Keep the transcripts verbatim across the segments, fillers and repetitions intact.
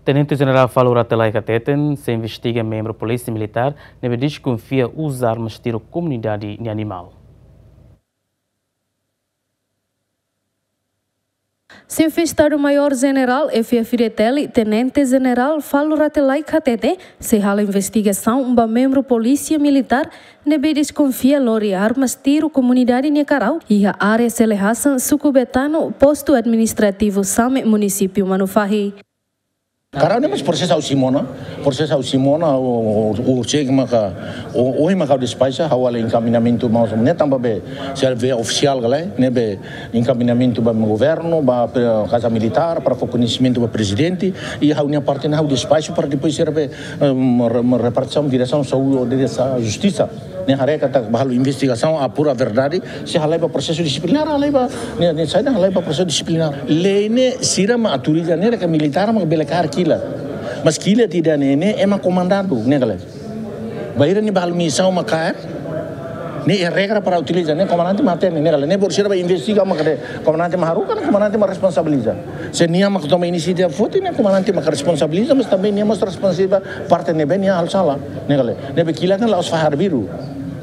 Tenente Jenerál Falur Rate Laek hateten, sei investiga membru Polísia Militár ne'ebé deskonfia uza armas tiru komunidade nia animál. Xefe Estadu-Maiór Jenerál F-FDTL, Tenente Jenerál Falur Rate Laek hateten, sei halo investigasaun ba membru Polísia Militár ne'ebé deskonfia lori armas tiru komunidade nia karau iha área Selehasan, suku Betano, postu administrativu Same, munisípiu Manufahi. Karau ne'e mós prosesu ha'u simu ona, prosesu ha'u simu ona, o, o, o, sei maka, o, o, maka despaxa, ha'u halo enkaminhamentu maus, ne'e tanba be, se via ofisiál ka lae, ne'ebé enkaminhamentu ba governu, ba, eh, Kaza Militár, para fó koñesimentu ba Prezidente, i ha'u-nia parte ne'e ha'u despaxa para depois sira be, em, re-, repartisaun, diresaun saúde, diresaun justisa. Ne'e haree katak ba halo investigasaun, apura verdade, se halai ba prosesu disiplinár, halai ba, ne'e, ne'e saida, halai ba prosesu disiplinár. Lei ne'e sira mak autoriza ne'e, ke militár mak bele kaer kilat. Mas kilat ida-ne'e, ne'e ema komandadu, ne'e ka lae. Bainhira nia ba halo misaun mak kaer, ne'e iha regra para utiliza, ne'e komandante mak hatene, ne'e ka lae. Ne'e baru sira ba investiga mak kaer, komandante mak haruka, ne'e komandante mak responsabiliza. Se nia mak toma inisiativa foti, ne'e komandante mak responsabiliza, mas tanba nia mós responsavel parte ne'ebé nia halo sala, ne'e ka lae. Ne'ebé kilat ne'e la'ós fahe arbiru.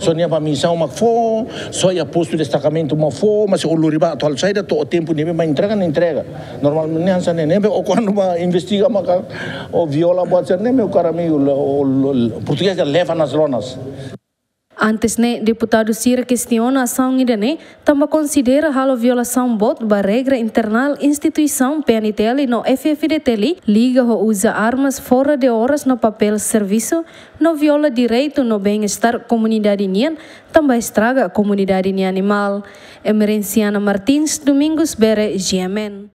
Só nia ba misaun mak fó, só iha postu destakamentu mak fó, mas o lori ba atu halo saida, to'o tempu ne'ebé ba entrega, ne'e entrega. Normalmente ne'e hanesan ne'e, ne'ebé o kuandu ba investiga maka o viola buat sira-ne'e, meu caro amigo, o, o, o, portugés dehan leva nas lonas. Antes ne'e, deputadu sira kestiona asaun ida-ne'e, tanba konsidera halo violasaun boot ba regra internál instituisaun P N T L no F-FDTL, liga ho uza armas fora de oras no papél servisu, no viola direitu no bem-estar komunidade nian, tanba estraga komunidade nia animál. Emerenciana Martins, Domingos Bere, G M N.